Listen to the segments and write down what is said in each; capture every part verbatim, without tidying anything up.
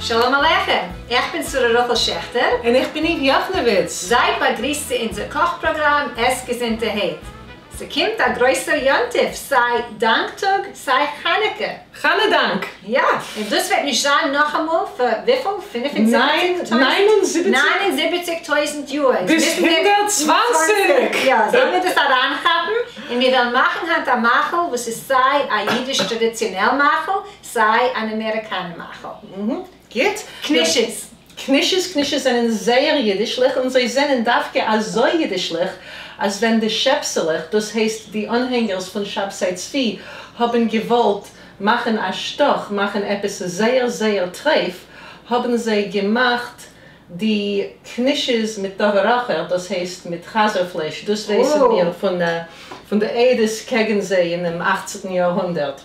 שלום עליכם, איך בין שרה רחל שעכטער. און איך בין איוו יאכנעוויץ. זייט באגריסט צו אונזער קאך פראגראם עס געזונטערהייט. ס'קומט א גרויסער יום טוב, סיי דאנקטאג, סיי חנוכה. חנה דאנק. יא, און דאס וועט נישט זיין נאכאמאל פאר וויפיל? פֿינף און זיבעציק טויזנט? נײַן און זיבעציק טויזנט יאר. ביז הונדערט צוואַנציק! יא, זאלן מיר דאס אריינכאפן, און מיר וועלן מאכן היינט א מאכל וואס איז סיי א אידיש טראדיציאנעל מאכל, סיי אן אמעריקאנער מאכל. גוט. קנישעס. קנישעס, קנישעס זענען זייער אידישליך, און זיי זענען דווקא אזוי אידישליך, אז ווען די שעפסעלעך, דאס הייסט די אנהענגערס פון שבתאי צבי, האבן געוואלט מאכן א שטאך, מאכן עפעס זייער זייער טרייף, האבן זיי געמאכט די קנישעס מיט דבר אחר, דאס הייסט מיט חזיר פלייש, דאס ווייסן מיר פון די עדות קעגן זיי אינעם אכצנטן יארהונדערט.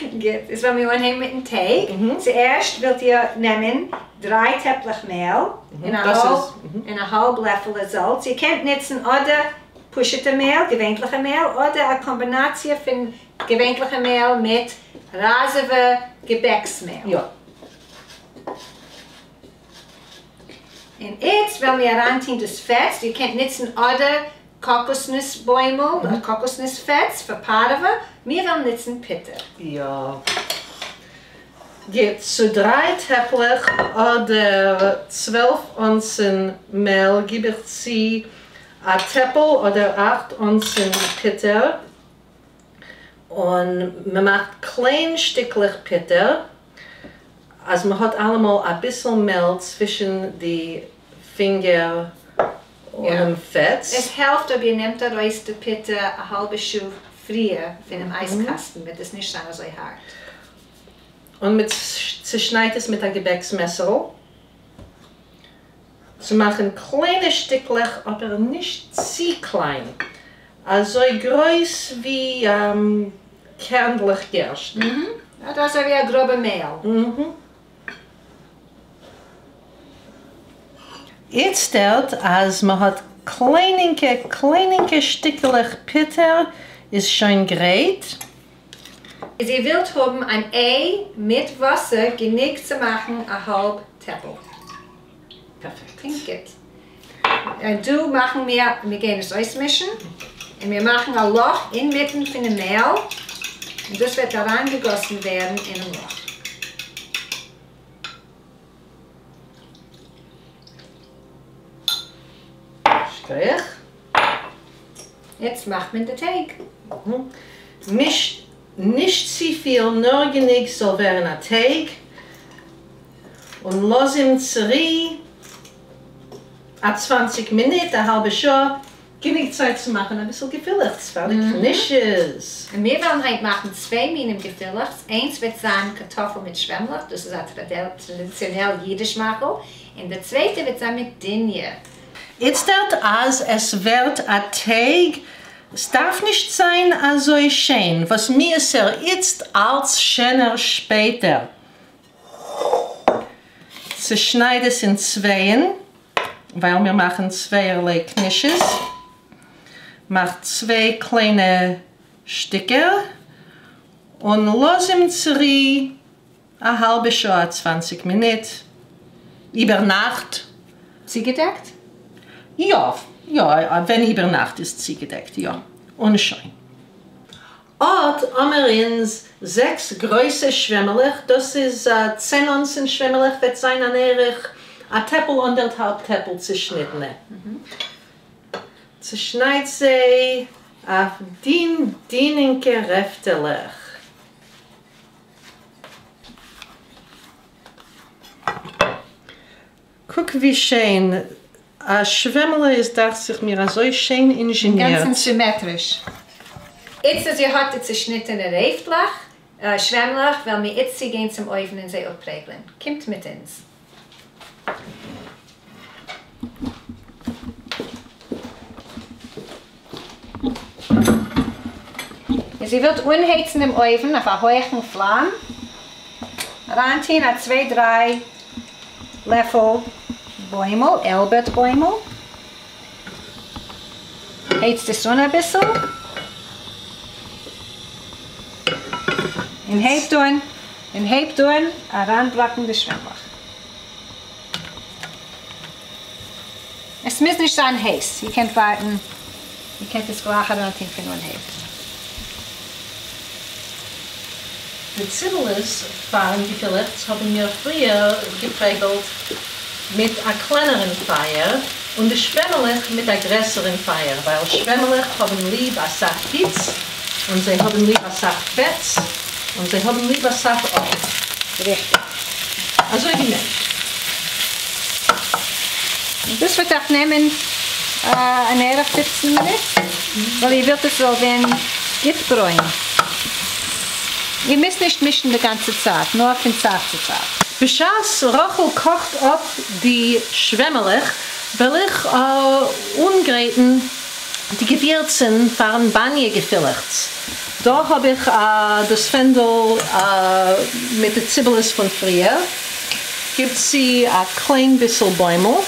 גוט, איז וועלן מיר אנהייבן מיטן טייג. צוערשט ווילט איר נעמען דריי טעפלעך מעל און א האלב לעפעלע זאלץ. איר קענט נוצן אדער פשוטע מעל, געווענליכע מעל, אדער א קאמבינאציע פון געווענליכע מעל מיט ראזעווע געבעקס מעל. יא. און איצט וועלן מיר אריינטון דאס פעטס. איר קענט נוצן אדער קאקוסנוס בוימל, אדער קאקוסנוס פעטס פאר פארעווע. מיר וועלן נוצן פוטער. יא. גוט, צו דריי טעפלעך אדער צוועלף אונסן מעל גיב איך צו א טעפל אדער אכט אונסן פוטער, און מען מאכט קליין שטיקלעך פוטער, אז מען האט אלעמאל אביסל מעל צווישן די פינגער און דעם פעטס. עס העלפט אויב איר נעמט ארויס די פוטער א האלבע שעה פריער פונעם אייזקאסטן, וועט עס נישט זיין אזוי הארט. און מען צעשניידט עס מיט א געבעקס מעסערל, צו מאכן קליינע שטיקלעך, אבער נישט צו קליין, אזוי גרויס ווי קערנדלעך גערשטן. אדער אזוי ווי א גראבע מעל. איצטערט אז מען האט קליינינקע קליינינקע שטיקלעך פוטער איז שוין גרייט. אז איר ווילט האבן אן איי מיט וואסער גענוג צו מאכן א האלב טעפל. פערפעקט. קלינגט גוט. און דא מאכן מיר, מיר גייען עס אויסמישן, און מיר מאכן א לאך אינמיטן פונעם מעל, און דאס וועט אריינגעגאסן ווערן אינעם לאך. שטריך. יעצט מאכט מען די טייג. מישט נישט צופיל, נאר גענוג ס'זאל ווערן א טייג, און לאז אים צורו א צוואַנציק מינוט, א האלבע שעה, גענוג צייט צו מאכן אביסל געפילעכטס פאר די קנישעס. און מיר וועלן היינט מאכן צוויי מינים געפילעכטס, איינס וועט זיין קארטאפל מיט שוועמלעך, דאס איז א טראדיציאנעל אידיש מאכל, און די צווייטע וועט זיין מיט דיניע. איצטערט אז עס ווערט א טייג, עס דארף נישט זיין אזוי שיין, וואס מיאוס'ער איצט אלץ שענער שפעטער. צעשנייד עס אין צווייען, ווייל מיר מאכן צווייערליי קנישעס. מאך צוויי קליינע שטיקער און לאז אים צורו א האלבע שעה, צוואַנציק מינוט, איבערנאכט. צוגעדעקט? יא, יא, ווען איבערנאכט איז צוגעדעקט, יא. און שוין. אט האמער אונז זעקס גרויסע שוועמעלעך, דאס איז צען אונסן שוועמעלעך, וועט זיין אן ערך א טעפל, אנדערטהאלב טעפל צעשניטענע. צעשניידט זיי אויף דין דינינקע רעפטעלעך. קוק ווי שיין א שוועמעלע איז, דאכט זיך מיר אזוי שיין אינזשענירט. אינגאנצן סימעטריש. איצט אז איר האט די צעשניטענע רעפטלעך, שוועמלעך, וועלן מיר איצט צוגיין צום אויוון און זיי אפפרעגלען. קומט מיט אונז. אז איר ווילט אנהייצן דעם אויוון אויף א הויכן פלאם, אריינטוהן א צוויי דריי לעפל בוימל, עלבערט בוימל, הייצט עס אן אביסל, און הייבט אן, און הייבט אן אריינבראקן די שוועמלעך. עס מוז נישט זיין הייס. איר קענט ווארטן, איר קענט עס גלייך אריינטון פון אנהייב. די ציבעלעס פארן געפילעכץ האבן מיר פריער געפרעגלט מיט א קלענערן פייער און די שוועמעלעך מיט א גרעסערן פייער, ווייל שוועמעלעך האבן ליב אסאך היץ און זיי האבן ליב אסאך פעטס און זיי האבן ליב אסאך אויל. ריכטיג. אזוי ווי מענטשן. און דאס וועט אייך נעמען אן ערך פֿופֿצן מינוט, ווייל איר ווילט עס זאל ווערן גוט ברוין. איר מוזט נישט מישן די גאנצע צייט, נאר פון צייט צו צייט. בשעת רחל קאכט אפ די שוועמעלעך, וועל איך אנגרייטן די געווירצן פארן באניע געפילעכץ. דא האב איך דאס פענדל מיט די ציבעלעס פון פריער. גיב צו א קליין ביסל בוימל.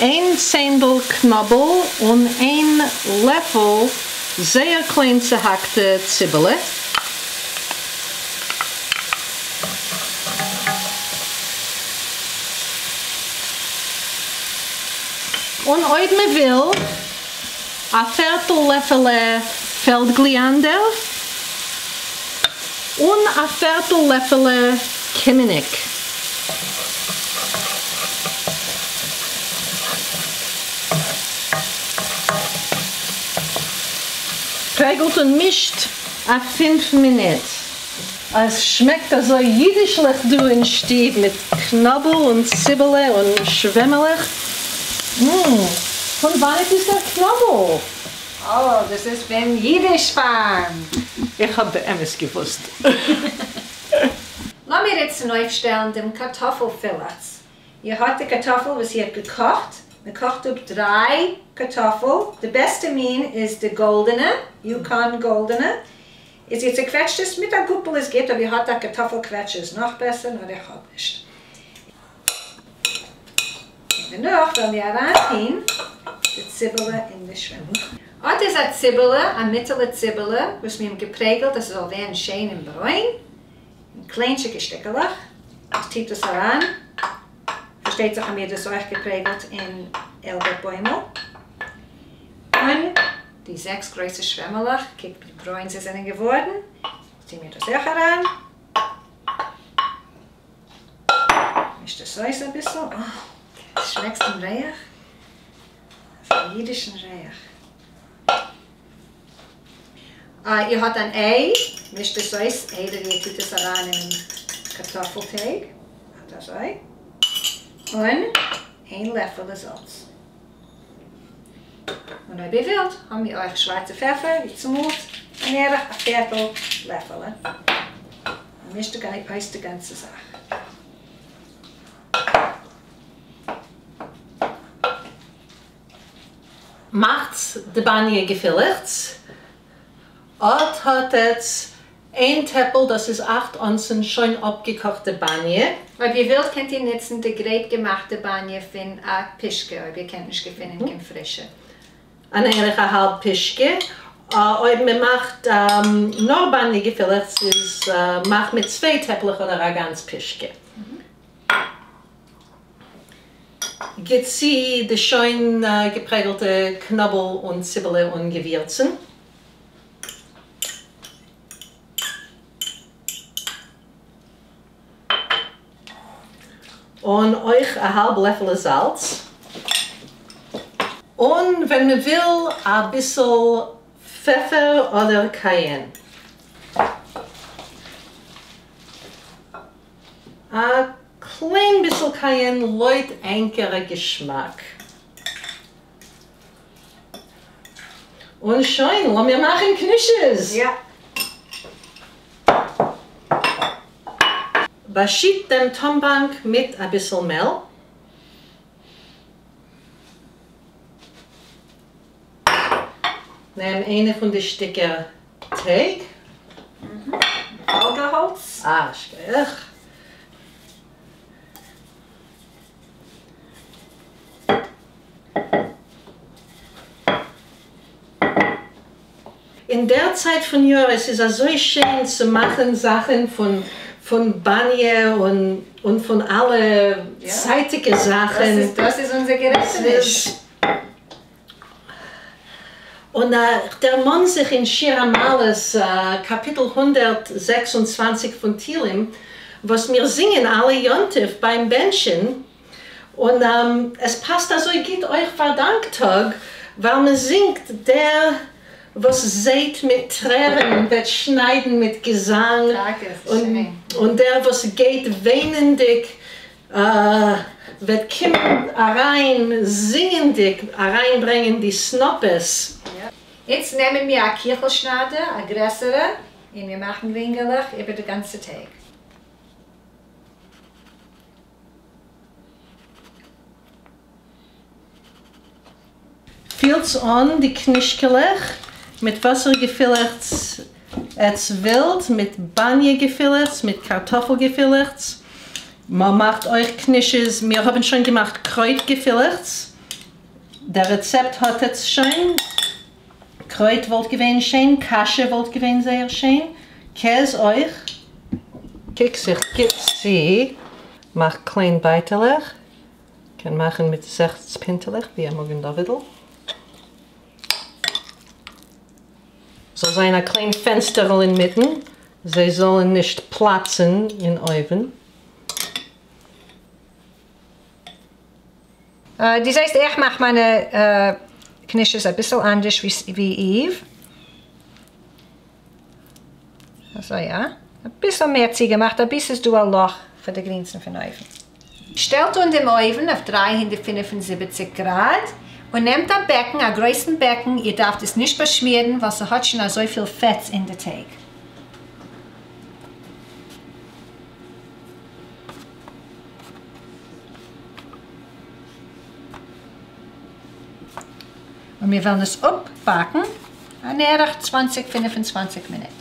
איין צענדל קנאבל און איין לעפל זייער קליין צעהאקטע ציבעלע. און אויב מען וויל, א פערטל לעפעלע פעלדגליאנדער און א פערטל לעפעלע קימיניק. פרעגלט און מישט א פינף מינוט. עס שמעקט אזוי אידישליך דא אין שטוב מיט קנאבל און ציבעלע און שוועמעלעך. ממ, פון וואנעט איז דער קנאבל? אה, דאס איז פון אידיש פארם. איך האב באמת געוואוסט. לאמיר איצט צונויפשטעלן דעם קארטאפל פילעכץ. איר האט די קארטאפל וואס איר האט געקאכט, מען קאכט אפ דריי קארטאפל, די בעסטע מין איז די גאלדענע, יוקאן גאלדענע, איז איר צעקוועטשט עס מיט א גאפל איז גוט, אויב איר האט א קארטאפל קוועטשער איז נאך בעסער, נאר איך האב נישט. און דערנאך וועלן מיר אריינטוהן די ציבעלע אין די שוועמל. אט איז א ציבעלע, א מיטעלע ציבעלע, וואס מיר האבן געפרעגלט אז ס'זאל ווערן שיין און ברוין, אין קליינטשיגע שטיקעלעך. איך טוה דאס אריין. פארשטייט זיך האבן מיר דאס אויך געפרעגלט אין איילבערט בוימל. און די זעקס גרויסע שוועמעלעך, קוקט ווי ברוין זיי זענען געווארן, טוהן מיר דאס אויך אריין. מיש דאס אויס אביסל. אה, שמעקסט דעם ריח? אזא אידישן ריח. אה, איר האט אן איי, מישט עס אויס איידער איר טוט עס אריין אינעם קארטאפל טייג. אט אזוי. און איין לעפעלע זאלץ. און אויב איר ווילט, האבן מיר אויך שווארצע פעפער, ווי צומאלט, אן ערך א פערטל לעפעלע. און מישט אויס די גאנצע זאך. מאכטס די באניע געפילעכץ. אט האט עטס איין טעפל, דאס איז אַכט אונסן שוין אפגעקאכטע באניע. אויב איר ווילט קענט איר נוצן די גרייט געמאכטע באניע פון א פישקע, אויב איר קענט נישט געפינען קיין פרישע. אן ערך א האלב פישקע. אויב מען מאכט נאר באניע געפילעכץ איז מאכט מיט צוויי טעפלעך אדער א גאנץ פישקע. גיט צו די שוין געפרעגלטע קנאבל און ציבעלע און געווירצן. און אויך א האלב לעפעלע זאלץ. און ווען מען וויל אביסל פעפער אדער קייען. א קליין ביסל קייען לויט ענקערע געשמאק. און שוין, לאמיר מאכן קנישעס! יא. באשיט דעם טאמבאנק מיט אביסל מעל. נעם איינע פון די שטיקער טייג. פאלגערהאלץ. אה, שכוח. אין דער צײַט פֿון יאָר, עס איז אַזוי שיין צו מאַכן זאַכן פֿון, פֿון באַניע און, און פֿון אַלע יאָ. צײַטיקע זאַכן. דאָס איז, דאָס איז אונדזער גערעטעניש. און אה, דערמאָן זיך אין שיר המעלות, אה, קאַפּיטל הונדערט זעקס און צוואַנציק פֿון תּהילים, וואָס מיר זינגען אַלע יום־טובֿ בײַם בענטשן. און עם, עס פּאַסט אַזוי גוט אויך פֿאַר דאַנקטאָג, ווײַל מע זינגט דער, וואָס זייט מיט טרערן, וועט שנײַדן מיט געזאַנג. טאַקע, ס'איז און, שיין. און דער, וואָס גייט וויינענדיק, אה, וועט קומען אַרײַן, זינגענדיק, אַרײַנברענגען די סנאָפּעס. יאָ. יעצט נעמען מיר אַ קיכל־שנײַדער, אַ גרעסערע, און מיר מאַכן רינגעלעך איבער די גאַנצע טייג. פֿילטס אָן די קנישקעלעך מיט וואָסער געפֿילעכץ עץ ווילט, מיט באַניע־געפֿילעכץ, מיט קאַרטאָפֿל־געפֿילעכץ. מע מאַכט אויך קנישעס. מיר האָבן שוין געמאַכט קרויט־געפֿילעכץ. דער רעצעפּט האָט עץ שוין. קרויט וואָלט געווען שיין, קאַשע וואָלט געווען זייער שיין, קעז אויך. קוק זיך גוט צו, מאַך קליין בײַטעלעך. קען מאַכן מיט זעקס פּינטעלעך, ווי אַ מגן־דודל. זאָל זײַן אַ קליין פֿענצטערל אין מיטן. זיי זאָלן נישט פּלאַצן אין אויוון. אה, דו זעסט, איך מאַך מײַנע אה, קנישעס אַ ביסל אַנדערש ווי, ווי Eve. אַזוי, יאָ. אַ ביסל מער צוגעמאַכט, אַ ביסל איז דאָ אַ לאָך פֿאַר די גרינסן פֿון אויוון. שטעלט אָן דעם אויוון אויף דרײַ הונדערט פֿינף און זיבעציק גראַד און נעמט אַ בעקן, אַ גרויסן בעקן. איר דאַרפֿט עס נישט באַשמירן, ווײַל ס'האָט שוין אַזוי פֿיל פֿעטס אין דער טייג. און מיר וועלן עס אָפּבאַקן אַן ערך צוואַנציק, פֿינף און צוואַנציק מינוט.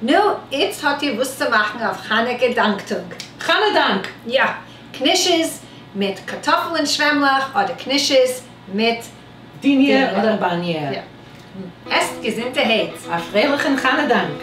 נו, איצט האָט איר וואָס צו מאַכן אויף חנוכּה דאַנקטאָג. חנה דאַנק! יאָ, קנישעס מיט קאַרטאָפֿל און שוועמלעך אָדער קנישעס מיט דיניע אָדער באַניע. יאָ. עסט געזונטערהייט. אַ פֿריילעכן חנה דאַנק!